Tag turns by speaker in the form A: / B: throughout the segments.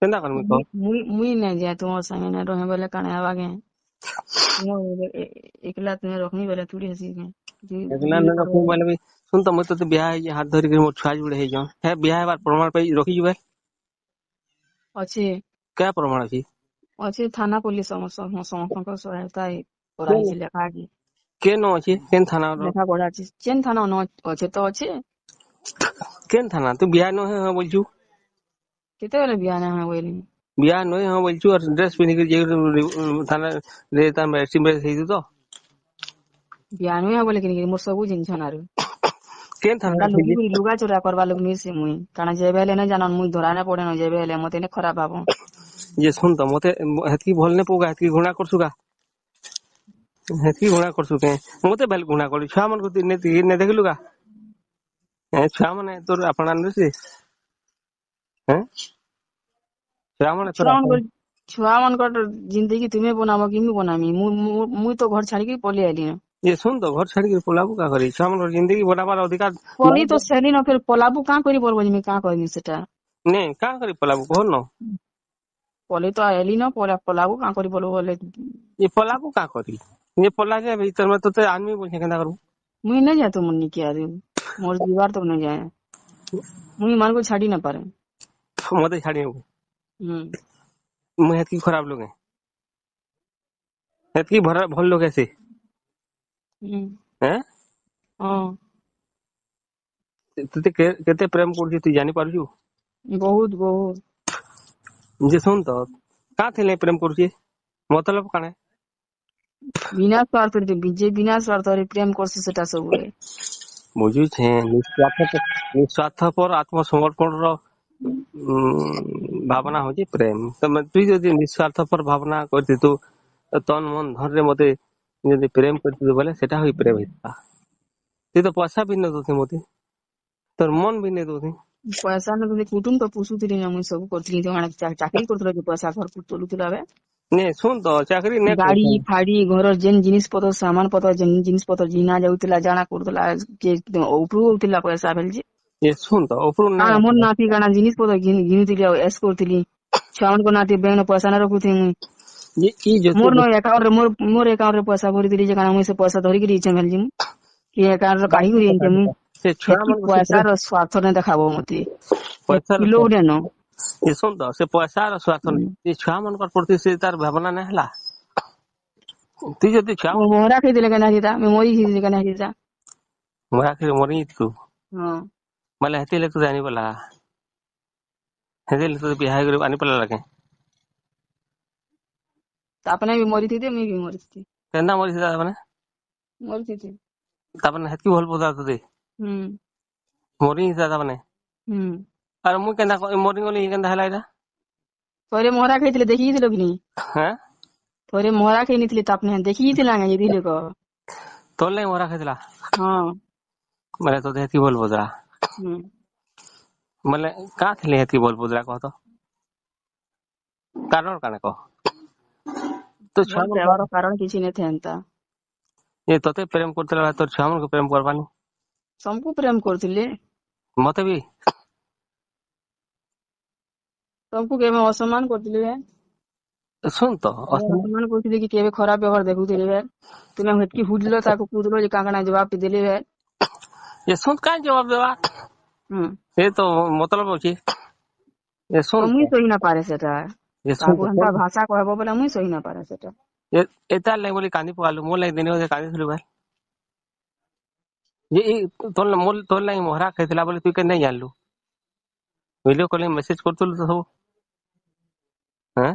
A: କେନ୍ତା କରମି କହ?
B: ମୁଇଁ ନାଇଁ ଯାଏ ତୁମର ସାଙ୍ଗେ ନାଇଁ ରହେ ବୋଇଲେ କାଣା ହେବା କେଁ? ଏକଲା ତୁମେ ରଖମି ବୋଇଲେ ତୁଡ଼ି ହେସି କେଁ?
A: ଏକଲା ନାଇଁ ରଖମି ବୋଇଲେ ବି ଶୁନ ତ, ମୁଇଁ ତତେ ବିହା ହେଇଛି, ହାତ ଧରିକି ମୋର ଛୁଆ ଯୁଡେ ହେଇଛନ୍, ହେ ବିହା ହେବାର ପ୍ରମାଣ ପାଇ ରଖିଛୁ ବେ?
B: ଅଛି।
A: କ୍ୟା ପ୍ରମାଣ ଅଛି?
B: ଅଛି, ଥାନା ପୋଲିସ ସମସ୍ତଙ୍କ ସହାୟତା କରାହେଇଛି, ଲେଖା ଅଛି।
A: କେନ ଅଛି? କେନ୍ ଥାନା?
B: ଲେଖା ପଢା ଅଛି, ଯେନ୍ ଥାନା ନ ଅଛେ ତ ଅଛି।
A: କେନ୍ ଥାନା? ତୁ ବିହା ନୁହେଁ ହଁ ବୋଲଛୁ।
B: କେତେବେଳେ ବିହା ନାଇଁ ହଁ ବୋଇଲି?
A: ବିହା ନୁହେଁ ହଁ ବୋଲଛୁ, ଆର ଡ୍ରେସ ପିନ୍ଧିକି ଯାଇକି ଥାନାରେ ତାର ମ୍ୟାରେଜ ହେଇଛୁ ତ।
B: ବିହା ନୁହେଁ ବୋଲେ କିନି ମୋର ସବୁ ଜିନିଷ ନାରୁ।
A: କେନ୍ ଥାନା?
B: ଲୁଗା ଚୋରା କରବା ଲୋକ ନୁହେଁ ସେ ମୁଇଁ। କାଣା ଯେବେ ହେଲେ ନାଇଁ ଜାନ, ମୁଇଁ ଧରା ନାଇଁ ପଡେନ ଯେବେ ହେଲେ, ମତେ ନାଇଁ ଖରାପ ଭାବ।
A: ଯେ ଶୁନ ତ, ମତେ ହେତକି ଭଲ ନାଇଁ ପକା, ହେତକି ଘୃଣା କରଛୁ କା? ହେତକି ଘୃଣା କରଛୁ କେ ମତେ? ବେଲ ଘୃଣା କଲି, ଛୁଆ ମାନଙ୍କୁ ନେ ଦେଖିଲୁ କା? ଛୁଆ ମାନେ ତୋର ଆପଣା ନୁହେଁ? ଛୁଆ ମାନେ
B: ଛୁଆ ମାନଙ୍କର ଜିନ୍ଦଗି ତୁମେ ବନାବ କି ମୁଇଁ ବନାମି? ମୁଇଁ ତ ଘର ଛାଡିକି ପଳେଇ ଆଇଲି।
A: ଯେ ଶୁନ ତ, ଘର ଛାଡିକି ପଲାବୁ କା କରି? ଛୁଆ ମାନଙ୍କର ଜିନ୍ଦଗି ବନାବାର ଅଧିକାର
B: ପଲି ତ ସେଲି ନ, ଫେର ପଲାବୁ କାଁ କରି ବଲବ? ମୁଇଁ କାଁ କହିବି ସେଟା?
A: ନାଇଁ, କାଁ କରି ପଲାବୁ କହ ନ?
B: ପଲେଇ ତ ଆଇଲି ନ, ପଲାବୁ କାଁ କରି ବଲବ ବୋଲେ?
A: ଏ ପଲାବୁ କାଁ କରି? ଯେ ପଲା ଯେ ଭିତର ତତେ ଆନମି ବୋଲଛେ, କେନ୍ତା କରିବୁ?
B: ମୁଇଁ ନାଇଁ ଯାଏ ତୁମର ନିକି, ଆରେ ମୋର ଯିବାର ତ ନାଇଁ ଯାଏ, ମୁଇଁ ମାନଙ୍କୁ ଛାଡି ନା ପାରେ।
A: ମତେ ଛାଡି ହବ? ମୁଇଁ ହେତକି ଖରାପ ଲୋକ? ହେତକି ଭଲ ଲୋକ ସେ?
B: ହଁ।
A: ତତେ କେତେ ପ୍ରେମ କରୁଛି ତୁଇ ଜାଣି ପାରୁଛୁ?
B: ବହୁତ ବହୁତ।
A: ଯେ ଶୁନ ତ, କାଁ ଥିଲେ ପ୍ରେମ କରୁଛି? ମତଲବ କାଣା?
B: ବିନା ସ୍ୱାର୍ଥରେ, ଯେ ବିନା ସ୍ୱାର୍ଥରେ ପ୍ରେମ କରସି ସେଟା ସବୁବେଳେ।
A: ବୁଝୁଛେ, ନିସ୍ୱାର୍ଥପର ଆତ୍ମସମର୍ପଣର ଭାବନା ହଉଛି ପ୍ରେମ। ତମେ ତୁଇ ଯଦି ନିସ୍ୱାର୍ଥପର ଭାବନା କରିଥିତୁ, ତନ ମନ ଧନରେ ମତେ ଯଦି ପ୍ରେମ କରିଥିତୁ ବୋଇଲେ ସେଟା ହଇ ପ୍ରେମ ହେଇଥିବା। ତୁଇ ତ ପଇସା ବି ନେଇ ଦଉଥି ମତେ, ତୋର ମନ ବି ନେଇ ଦଉଥି।
B: ପଇସା ନ କୁଟୁମ ତ ପୁଷୁଥିଲି ନା, ମୁଇଁ ସବୁ କରୁଥିଲି, ଚାକିରି କରୁଥିଲା ଯେ ପଇସା ଘର ଚଲୁଥିଲା ବେ।
A: ନେ ଶୁନ ତ, ଚାକିରି ନେ
B: ଗାଡି ଫାଡି ଘରର ଯେନ୍ ଜିନିଷ ପତ୍ର, ସାମାନ ପତ୍ର, ଯେନ୍ ଜିନିଷ ପତ୍ର ଜିନା ଯାଉଥିଲା, ଜାଣା କରୁଥିଲା, ଉପରୁ ହଉଥିଲା ପଇସା ଭେଲଜି।
A: ଏ ଶୁନ ତ, ଉପରୁ
B: କାଣା ମୋର ନାତି କାଣା ଜିନିଷ ପତ୍ର ଘିନୁଥିଲି ଆଉ ଏସ୍ କରୁଥିଲି। ଛୁଆମାନଙ୍କ ନାତି ବ୍ୟାଙ୍କ ପଇସା ନା ରଖୁଥିଲି ମୁଇଁ। ମୋର ନ ଆକାଉଣ୍ଟ ରେ, ମୋର ଆକାଉଣ୍ଟ ରେ ପଇସା ଭରିଥିଲି ଯେ କାଣା ମୁଇଁ ସେ ପଇସା ଧରିକିରି ଇଛେ ଭେଲଜି, ମୁଁ କି ଆକାଉଣ୍ଟ ରେ କାଢିକରି ଆନିଛେ ମୁଇଁ।
A: ସେ ଛୁଆ
B: ପଇସାର ସ୍ୱାର୍ଥ ନାଇଁ ଦେଖାବ ମତେ ଲୋଭ ନ।
A: ଏ ଶୁନ ତ, ସେ ପଇସାର ସ୍ୱାର୍ଥ ନାଇଁ, ଛୁଆ ମାନଙ୍କର ପ୍ରତି ସେ ତାର ଭାବନା ନାଇଁ ହେଲା। ତୁଇ ଯଦି ଛୁଆ
B: ମହରା ଖାଇଥିଲେ କେନ୍ତା ହେଇତା? ମୁଇଁ ମରି ଯାଇଥିଲି କେନ୍ତା ହେଇତା?
A: ମରା ଖାଇ ମରି ଯାଇଥିଲୁ?
B: ହଁ।
A: ବୋଇଲେ ହେତିଲେ ତୁ ଜାଣି ପଲା, ହେତିଲେ ତୁ ବିହା ହେଇକରି ଆନି ପଲା କେଁ?
B: ତାପରେ ବି ମରିଥିତି, ମୁଇଁ ବି ମରିଥିତି।
A: କେନ୍ତା ମରିଥିଲା ମାନେ?
B: ମରିଥିତି।
A: ତାପରେ ହେତିକି ଭଲ ପାଉଥିଲା ତତେ?
B: ହୁଁ।
A: ମରି ଯାଇଥିଲା ତାମାନେ?
B: ହୁଁ।
A: ଆରେ ମୁଇଁ କେନ୍ତା ମରିଗଲି, କେନ୍ତା ହେଲା ଏଇଟା?
B: ଥରେ ମହରା ଖାଇଥିଲେ ଦେଖିଥିଲ କି ନି?
A: ହେଁ?
B: ଥରେ ମହରା ଖାଇ ନେଇଥିଲି ତାପନେ ଦେଖିଥିଲା ଯାଇଥିଲେ କହ।
A: ତୋର ଲାଗି ମହରା ଖାଇଥିଲା?
B: ହଁ।
A: ମାନେ ତୋତେ ହେତିକି ଭଲ ପାଉଥିଲା?
B: ହୁଁ।
A: ମାନେ କାଁ ଥିଲେ ହେତିକି ଭଲ ପାଉଥିଲା କହ ତ? କାରଣ କାଣା କହ ତ?
B: ଛୁଆ କାରଣ କିଛି ନାଇଁ ଥାନ୍ତା।
A: ଏ ତତେ ପ୍ରେମ କରୁଥିଲା, ତୋର ଛୁଆ ମାନଙ୍କୁ ପ୍ରେମ କରବାନି?
B: ସବୁ ପ୍ରେମ କରୁଥିଲେ।
A: ମତେ ବି?
B: ତମକୁ କେବେ ଅସମ୍ମାନ କରୁଥିଲି ବେ?
A: ଶୁନ ତ।
B: ଅସମ୍ମାନ କରୁଥିଲି କି କେବେ ଖରାପ ବ୍ୟବହାର ଦେଖୁଥିଲି ବେ? ତୁମେ ହେତକି ହୁଜଲ ତାକୁ କୁଦଲ ଯେ କାଁ କାଣା ଜବାବ ଦେଲି ବେ?
A: ଏ ଶୁନ, କାଇଁ ଜବାବ ଦେବା? ସେ ତ ମତଲବ ଅଛି। ଏ ଶୁନ,
B: ମୁଇଁ ସହି ନା ପାରେ ସେଟା। ତାକୁ ହେନ୍ତା ଭାଷା କହିବ ବୋଲେ ମୁଇଁ ସହି ନା ପାରେ ସେଟା।
A: ଏତାର ଲାଗି ବୋଲି କାନ୍ଦି ପକାଲୁ, ମୋର ଲାଗି ଦିନେ ଅଧେ କାନ୍ଦିଥିଲୁ ଭାଇ? ଯେ ତୋର ତୋର ଲାଗି ମହରା ଖାଇଥିଲା ବୋଲି ତୁଇ କେନ୍ତା ଜାଣିଲୁ? ଭିଡିଓ କଲିଂ ମେସେଜ କରୁଥିଲୁ ତ ସବୁ। ହେଁ,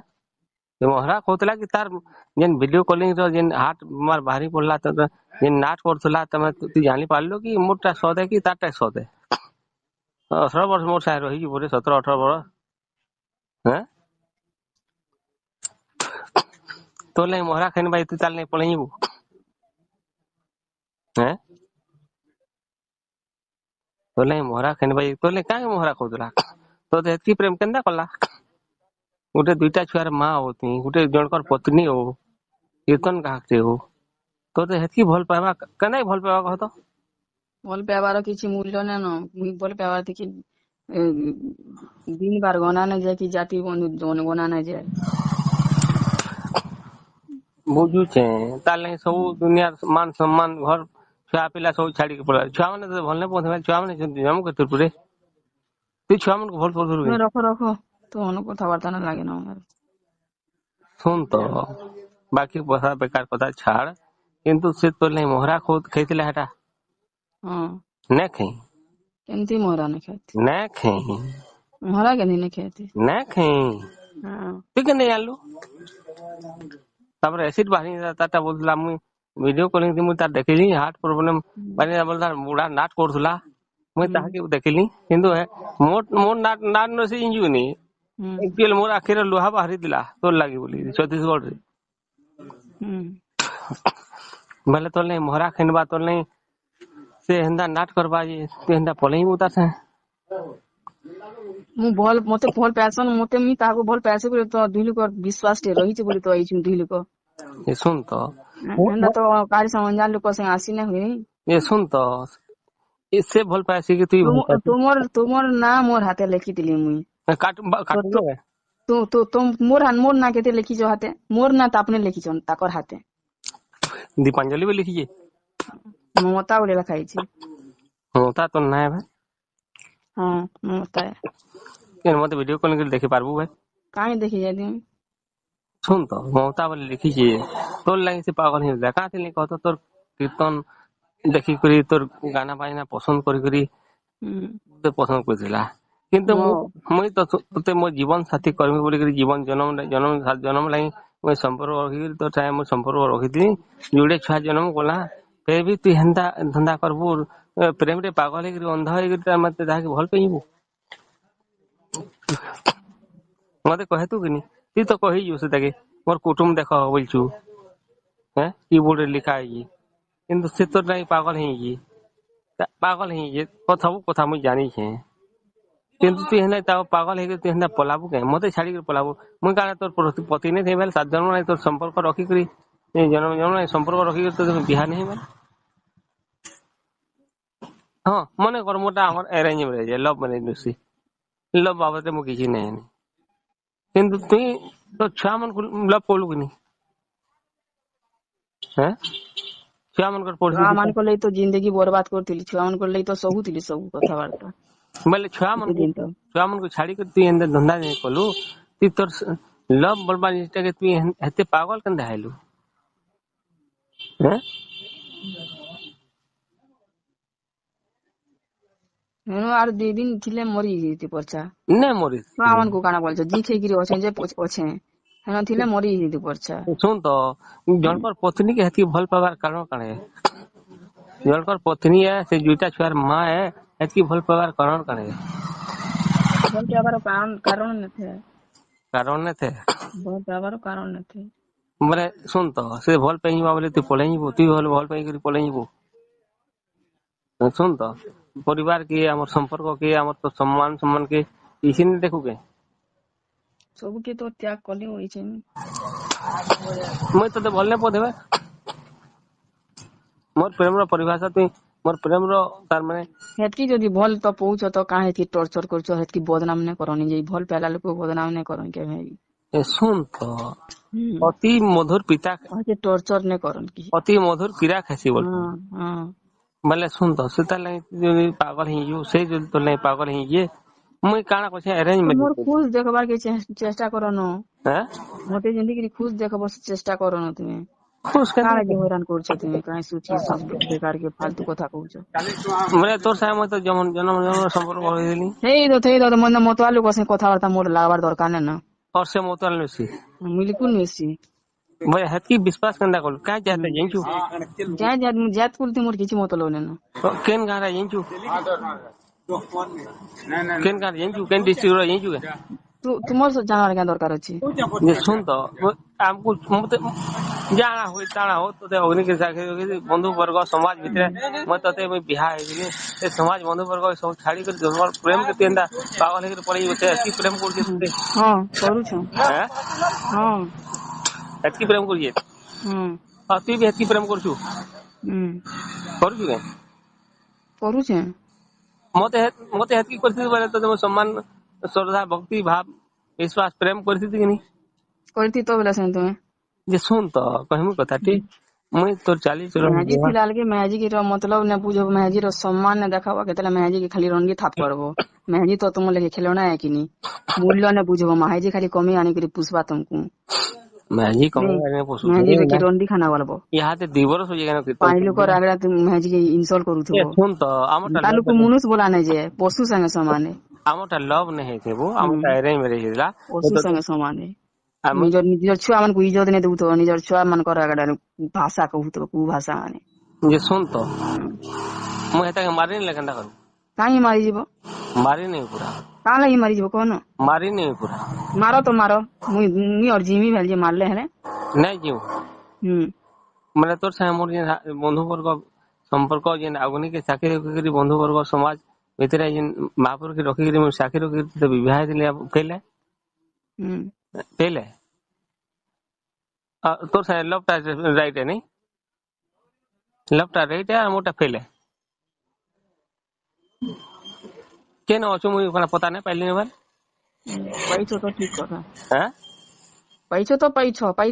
A: ମହରା କହୁଥିଲା କି ତାର ଯେନ୍ ଭିଡିଓ କଲିଂ ର ଯେନ୍ ହାଟ ମାର ବାହାରି ପଡିଲା, ତ ଯେନ୍ ନାଟ କରୁଥିଲା, ତମେ ତୁଇ ଜାଣି ପାରିଲୁ କି ମୋରଟା ସତ୍ କି ତାରଟା ସତ୍? 18 ବର୍ଷ ମୋର ସାଙ୍ଗେ ରହିଛି ବୋଧେ, 17 18 ବର୍ଷ। ହେଁ, ତୋର ଲାଗି ମହରା ଖାଇନି ଭାଇ, ତୁଇ ତାର ଲାଗି ପଳେଇ ଯିବୁ? ହେଁ, ତୋର ଲାଗି ମହରା ଖାଇନି ଭାଇ, ତୋର ଲାଗି କାଁ ମହରା କହୁଥିଲା? ତୋତେ ଏତିକି ପ୍ରେମ କେନ୍ତା କଲା? ଗୋଟେ ଦୁଇଟା ଛୁଆର ମା ହଉ ତୁଇ, ଗୋଟେ ଜଣଙ୍କର ପତ୍ନୀ ହଉ, କୀର୍ତ୍ତନ ଗାହକଟେ ହଉ, ତୋତେ ହେତିକି ଭଲ ପାଇବା କେନ୍ତା ଭଲ ପାଇବା କହ ତ?
B: ଭଲ ପାଇବାର କିଛି ମୂଲ୍ୟ ନାଇନ। ମୁଇଁ ଭଲ ପାଇବାର ଦେଖି ଦିନ ବାର ଗଣା ନାଇଁ ଯାଏ କି ଜାତି ବନ୍ଧୁ ଗଣା ନାଇଁ ଯାଏ।
A: ବୁଝୁଛେ, ତାର ଲାଗି ସବୁ ଦୁନିଆର ମାନ ସମ୍ମାନ ଘର ଛୁଆ ପିଲା ସବୁ ଛାଡିକି ପଳେଇବା। ଛୁଆ ମାନେ ତତେ ଭଲ ନାଇଁ ପଉଥିବେ, ଛୁଆ ମାନେ ଜମୁ କେତେ ପୁରେ ତୁଇ ଛୁଆ ମାନଙ୍କୁ ଭଲ ପାଉଥିଲୁ କି?
B: ରଖ ରଖ, ତୋ କଥାବାର୍ତ୍ତା ନା ଲାଗେ ନା।
A: ଶୁଣ ତ, ବାକି ପଇସା ବେକାର କଥା ଛାଡ, କିନ୍ତୁ ସେ ତୋର ଲାଗି ମୋହରା ଖାଇଥିଲା ହେଟା?
B: ହଁ।
A: ନାଇଁ ଖାଇ?
B: କେମିତି ମୋହରା ନାଇଁ ଖାଇତି?
A: ନାଇଁ ଖାଇ।
B: ମୋହରା କେମିତି ନାଇଁ ଖାଇତି?
A: ନାଇଁ ଖାଇ।
B: ହଁ।
A: ତୁଇ କେନ୍ତି ଜାଣିଲୁ? ତାପରେ ଏସିଡ ବାହାରି ତାରଟା ବୋଲୁଥିଲା, ମୁଇଁ ଭିଡିଓ କଲିଂ ମୁଇଁ ତାର ଦେଖିଲି, ହାର୍ଟ ପ୍ରୋବ୍ଲେମ ମାନେ ବୋଲତା ବୁଢା ନାଟ କରୁଥିଲା, ମୁଇଁ ତାହାକେ ଦେଖିଲି। କିନ୍ତୁ ମୋର ମୋର ନାଟ ନାଟ ନ ସେ ଜାଣିଛୁ ନି, ଆକ୍ଚୁଆଲି ମୋର ଆଖିରେ ଲୁହା ବାହାରିଥିଲା ତୋର ଲାଗି ବୋଲି ଛତିଶଗଡରେ। ବୋଇଲେ ତୋର ଲାଗି ମୋହରା ଖେନବା, ତୋର ଲାଗି ସେ ହେନ୍ତା ନାଟ କରବା ଯେ ତୁ ହେନ୍ତା ପଲେଇବୁ ତାର ସାଙ୍ଗେ?
B: ମୁଁ ଭଲ, ମତେ ଭଲ ପାଏସନ୍ ମତେ, ମୁଇଁ ତାହାକୁ ଭଲ ପାଏସି ବୋଲି ତ ଦୁଇ ଲୋକ ବିଶ୍ୱାସ ଟେ ରହିଛି ବୋଲି ତ ଆଇଛୁ ଦୁଇ ଲୋକ।
A: ଏ ଶୁଣ ତ,
B: ହେନ୍ତା ତ କାହାରି ସାଙ୍ଗେ ଅଞ୍ଜାନ ଲୋକ ସାଙ୍ଗେ ଆସି ନାଇଁ ହୁଏ।
A: ଏ ଶୁଣ ତ, ଏ ସେ ଭଲ ପାଏସି କି ତୁଇ ଭଲ ପାଏସି?
B: ତୁମର ତୁମର ନାଁ ମୋର ହାତେ ଲେଖିଥିଲି ମୁଇଁ।
A: କାଟୁ
B: ତ ତ ମୋର ମୋର ନାଁ କେତେ ଲେଖିଛ ହାତେ? ମୋର ନାଁ ତ আপনি ଲେଖିଛନ୍ ତାକର ହାତେ।
A: ଦୀପାଞ୍ଜଳି ବି ଲେଖିଛେ।
B: ମମତା ବୋଲି ଲେଖା ହେଇଛି।
A: ମମତା ତ ନାଇଁ ଭାଇ।
B: ହଁ, ମମତା।
A: କେନ୍ ମତେ ଭିଡିଓ କଲିଂ କରି ଦେଖି ପାରବୁ ଭାଇ?
B: କାଇଁ ଦେଖି ଯାଇଥିଲି?
A: ଶୁଣ ତ, ମମତା ବୋଲି ଲେଖିଛେ, ତୋର ଲାଗି ସେ ପାଗଲ ହେଇଥିଲା। କାଁ ଥିଲି କହ ତ? ତୋର କୀର୍ତ୍ତନ ଦେଖିକରି, ତୋର ଗାନା ବାଜନା ପସନ୍ଦ କରି କରି ତୋତେ ପସନ୍ଦ କରିଥିଲା। କିନ୍ତୁ ମୁଇଁ ତ ତୋତେ ମୋ ଜୀବନ ସାଥୀ କରମି ବୋଲିକରି ଜୀବନ ଜନମ ଜନମ ଜନମ ଲାଗି ମୁଇଁ ସମ୍ପର୍କ ରଖିକରି ତୋର ସାଙ୍ଗେ ମୁଁ ସମ୍ପର୍କ ରଖିଥିଲି। ଯୋଡ଼େ ଛୁଆ ଜନ୍ମ କଲା, ଫେର ବି ତୁଇ ହେନ୍ତା ଧନ୍ଦା କରବୁ? ପ୍ରେମରେ ପାଗଲ ହେଇକରି ଅନ୍ଧ ହେଇକରି ମତେ ତାହାକେ ଭଲ ପାଇବୁ? ମତେ କହେତୁ କିନି, ତୁଇ ତ କହିଛୁ ସେଟାକେ ମୋର କୁଟୁମ୍ବ ଦେଖ ବୋଲଛୁ, ହେଁ କିବୋର୍ଡରେ ଲେଖା ହେଇଛି। କିନ୍ତୁ ସେ ତୋର ଲାଗି ପାଗଲ ହେଇଛି, ପାଗଲ ହେଇଛି, ସବୁ କଥା ମୁଇଁ ଜାଣିଛେ। କିନ୍ତୁ ତୁଇ ହେଲେ ତା ପାଗଲ ହେଇକି ତୁଇ ହେନ୍ତା ପଲାବୁ କେଁ? ମତେ ଛାଡିକରି ପଲାବୁ? ମୁଇଁ କାଣା ତୋର ପତି ନାଇଁ ଥାଇ? 7 ଜନ୍ମ ନାଇଁ ତୋର ସମ୍ପର୍କ ରଖିକରି, ଜନ୍ମ ଜନ୍ମ ନାଇଁ ସମ୍ପର୍କ ରଖିକରି ତୋର ବିହା ନାଇଁ ହେଇ। ହଁ, ମନେ କର ମୋଟା ଆମର ଆରେଞ୍ଜ ମ୍ୟାରେଜ, ଲଭ ମ୍ୟାରେଜ ନୁସି, ଲଭ ବାବଦରେ ମୁଁ କିଛି ନାଇଁ। କିନ୍ତୁ ତୁଇ ତୋ ଛୁଆ ମାନଙ୍କୁ ଲଭ କଲୁ କି ନି? ହେଁ, ଛୁଆ ମାନଙ୍କର
B: ଛୁଆ ମାନଙ୍କ ଲାଗି ତ ଜିନ୍ଦଗି ବର୍ବାଦ କରିଥିଲି, ଛୁଆ ମାନଙ୍କର ଲାଗି ତ ସହୁଥିଲି ସବୁ କଥାବାର୍ତ୍ତା।
A: ବୋଇଲେ ଛୁଆ ମାନଙ୍କୁ, ଛୁଆ ମାନଙ୍କୁ ଛାଡିକରି ତୁଇ ଏନ୍ତା ଧନ୍ଦା ନାଇଁ କଲୁ? ତୁଇ ତୋର ଲଭ ବଲବା ଜିନିଷଟାକେ ତୁଇ ଏତେ ପାଗଲ କେନ୍ତା ହେଲୁ? ହେଁ।
B: ହେନୁ ଆର୍ 2 ଦିନ ଥିଲେ ମରି ଯାଇତି ପର୍ଚା।
A: ନାଇଁ ମରି।
B: ଛୁଆ ମାନଙ୍କୁ କାଣା ବୋଲଛ, ଜି ଖେଇକିରି ଅଛେ ଯେ ଅଛେ, ହେନ ଥିଲେ ମରି ଯାଇତି ପର୍ଚା।
A: ଶୁଣ ତ, ଜଣଙ୍କର ପତ୍ନୀ କେ ହେତିକି ଭଲ ପାଇବାର କାରଣ କାଣା? ଜଣଙ୍କର ପତ୍ନୀ ଏ, ସେ ଦୁଇଟା ଛୁଆର ମା ଏ, ହେତିକି ଭଲ ପାଇବାର କାରଣ କାଣା?
B: ଭଲ ପାଇବାର କାରଣ ନଥାଏ।
A: କାରଣ ନଥାଏ।
B: ଭଲ ପାଇବାର କାରଣ ନଥାଏ।
A: ମାନେ ଶୁଣ ତ, ସେ ଭଲ ପାଇଯିବା ବୋଲେ ତୁଇ ପଳେଇ ଯିବୁ? ତୁଇ ଭଲ ଭଲ ପାଇକରି ପଳେଇ ଯିବୁ? ଶୁଣ ତ, ପରିବାର କି ଆମର ସମ୍ପର୍କ କି ଆମର ତ ସମ୍ମାନ ସମ୍ମାନ କି କିଛି ନି ଦେଖୁ କେ?
B: ସବୁ କେ ତ ତ୍ୟାଗ କଲି ହୋଇଛେ।
A: ମୁଇଁ ତତେ ଭଲ ନାଇଁ ପଉଥିବେ? ମୋର ପ୍ରେମର ପରିଭାଷା ତୁଇ ମୋର ପ୍ରେମର ତାର ମାନେ
B: ହେତକି ଯଦି ଭଲ ତ ପଉଛ ତ କାଁ ହେତକି ଟର୍ଚର କରୁଛ? ହେତକି ବଦନାମ ନାଇଁ କରନି ଯେ, ଭଲ ପାଇଲା ଲୋକ ବଦନାମ ନାଇଁ କରନ୍ କେବେ।
A: ଏ ଶୁଣ ତ, ଅତି ମଧୁର ପିତା
B: ଟର୍ଚର ନାଇଁ କରନ୍ କି।
A: ଅତି ମଧୁର ପୀଡ଼ା ଖାସି ବୋଲ।
B: ହଁ।
A: ବୋଇଲେ ଶୁଣ ତ, ସେ ତାର ଲାଗି ଯଦି ପାଗଲ ହେଇଯିବୁ, ସେ ଯଦି ତୋର ଲାଗି ପାଗଲ ହେଇଯିଏ, ମୁଇଁ କାଣା କହୁଛେ, ଆରେଞ୍ଜ
B: ମୋର ଖୁଶ ଦେଖବାର କେ ଚେଷ୍ଟା କରନ।
A: ହେଁ।
B: ମତେ ଯେମିତି ଖୁଶ ଦେଖବ ଚେଷ୍ଟା କରନ ତୁମେ।
A: ଖୁଶ
B: କାଣା ଯେ ହଇରାଣ କରୁଛ ତୁମେ? କାଇଁ ସୁଚି ବେକାର କେ ଫାଲତୁ କଥା କହୁଛ?
A: ବୋଇଲେ ତୋର ସାଙ୍ଗେ ମୁଇଁ ତ ଜନ୍ମ ଜନ୍ମ ଜନ୍ମ ସମ୍ପର୍କ ରହିଥିଲି।
B: ହେଇ ତ ଥେଇ ତ ମତେ ମତୁଆ ଲୋକ ସାଙ୍ଗେ କଥାବାର୍ତ୍ତା ମୋର ଲାଗବାର ଦରକାର ନାଇଁ ନା।
A: और ସେ ମତୁଆଲ ନୁସି?
B: ବିଲକୁଲ ନୁସି।
A: ବୋଇଲେ ହେତକି ବିଶ୍ୱାସ କେନ୍ତା କଲୁ? କାଁ ଯାତେ ଜାଣିଛୁ?
B: ଯାଏ ଯାଏ ଜାତ କୁଲତି ମୋର କିଛି ମତଲବ ନାଇଁ ନା।
A: କେନ୍ ଗାଁରେ ଜାଣିଛୁ? କେନ୍ ଗାଁରେ ଜାଣିଛୁ? କେନ୍ ଡିଷ୍ଟ୍ରିକ୍ଟ ର ଜାଣିଛୁ କେ?
B: ତୁମର ଜାଣିବାର କାଁ ଦରକାର ଅଛି?
A: ଯେ ଶୁଣ ତ, ଆମକୁ ମତେ ଜାଣା ହୁଏ ତାଣା ହଉ, ତୋତେ ଅଗ୍ନି ବନ୍ଧୁ ବର୍ଗ ସମାଜ ଭିତରେ ମୁଇଁ ତତେ ମୁଇଁ ବିହା ହେଇଥିଲି। ସେ ସମାଜ ବନ୍ଧୁ ବର୍ଗ ସବୁ ଛାଡି କରି ପ୍ରେମ କେତେ ଏନ୍ତା ପାଗଲ ହେଇକରି ପଳେଇ ଯିବୁ? ସେ ଏତିକି ପ୍ରେମ କରୁଛେ ତତେ?
B: ହଁ, କରୁଛୁ। ହଁ।
A: ଏତିକି ପ୍ରେମ କରୁଛେ? ହଁ। ତୁଇ ବି ହେତିକି ପ୍ରେମ କରୁଛୁ? କରୁଛୁ କେ?
B: କରୁଛେ।
A: ମତେ ମତେ ହେତ୍କି କରିଥିବି ବୋଇଲେ ତ ସମ୍ମାନ, ଶ୍ରଦ୍ଧା, ଭକ୍ତି ଭାବ, ବିଶ୍ୱାସ, ପ୍ରେମ କରିଥିବି କି ନି?
B: କରିଥି ତ ବୋଲେ ସେନ ତୁମେ।
A: ଯେ ଶୁଣ ତ, କହିମୁ କଥା ଠିକ, ମୁଇଁ ତୋର ଚାଲି ଚଳନ
B: ମେହେଜି ଥିଲା କି ମେହେଜି ର ମତଲବ ନା ବୁଝବ, ମେହେଜି ର ସମ୍ମାନ ନା ଦେଖାବ, କେତେବେଳେ ମେହେଜି କି ଖାଲି ରଙ୍ଗି ଥାପ କରବ। ମେହେଜି ତ ତୁମ ଲାଗି ଖେଳଣା ହେ କି ନି? ମୂଲ୍ୟ ନା ବୁଝବ, ମେହେଜି ଖାଲି କମି ଆଣିକରି ପୁଷବା ତମକୁ।
A: ମେହେଜି କମେଇ ଆଣି ପୋଷୁଛି।
B: ମେହେଜି କି ରଣ୍ଡି ଖାନା ବଲବ।
A: ଇହାଦେ 2 ବରଷ ହଇ ଗଲା କୀର୍ତ୍ତନ।
B: ପାଞ୍ଚ ଲୋକର ଆଗରେ ତୁମ ମେହେଜି କି ଇନସଲ୍ଟ କରୁଥିବ।
A: ଶୁଣ ତ, ଆମରଟା
B: ତା ଲୋକ ମନୁଷ ବୋଲା ନାଇଁ ଯେ, ପଶୁ ସାଙ୍ଗେ ସମାନ।
A: ଆମରଟା ଲଭ୍ ନାଇଁ ହେଇଥିବୁ, ଆମରଟା ଆରେଞ୍ଜ ମ୍ୟାରେଜ ହେଇଥିଲା।
B: ପଶୁ ସାଙ୍ଗେ ସମାନ। ନିଜର ନିଜର ଛୁଆ ମାନଙ୍କୁ ଇଜ୍ଜତ ନାଇଁ ଦଉଥିବ, ନିଜର ଛୁଆ ମାନଙ୍କର ଆଗରେ ଭାଷା କହୁଥିବ, କୁ ଭାଷା ମାନେ।
A: ଯେ ଶୁଣ ତ, ମୁଁ ହେତାକେ ମାରିନେଲେ କେନ୍ତା କରିବୁ?
B: କାହିଁ ମାରିଯିବ?
A: ମାରିନେବି ପୁରା।
B: କାଁ ଲାଗି ମାରିଯିବ କହନ?
A: ମାରିନେବି ପୁରା।
B: ମାର ତ ମାର, ମୁଇଁ ମୁଇଁ ଅର ଜିମି ଭାଲି ଯେ ମାରଲେ ହେଲେ।
A: ନାଇଁ ଯିବୁ। ମାନେ ତୋର ସାଙ୍ଗେ ମୋର ଯେନ୍ ବନ୍ଧୁ ବର୍ଗ ସମ୍ପର୍କ, ଯେନ୍ ଆଗୁନିକେ ସାକ୍ଷୀ ରଖିକରି, ବନ୍ଧୁ ବର୍ଗ ସମାଜ ଭିତରେ ଯେନ୍ ମହାପୁରୁଷକେ ରଖିକରି, ମୁଁ ସାକ୍ଷୀ ରଖିକରି ତୋତେ ବିବାହ ହେଇଥିଲି, ଫେଲେ ଫେଲେ ତୋର ସାଙ୍ଗେ ଲଭ୍ ଟା ରାଇଟ୍ ନାଇଁ, ଲଭ୍ ଟା ରାଇଟ୍ ଆଉ ମୋରଟା ଫେଲେ। କେନ ଅଛୁ ମୁଇଁ କାଣା ପତା ନାଇଁ ପାଇଲିନି ଭାଇ।
B: ପାଇଛ ତ ଠିକ କଥା।
A: ହାଁ?
B: ପାଇଛ ତ ପାଇଛ, ପାଇ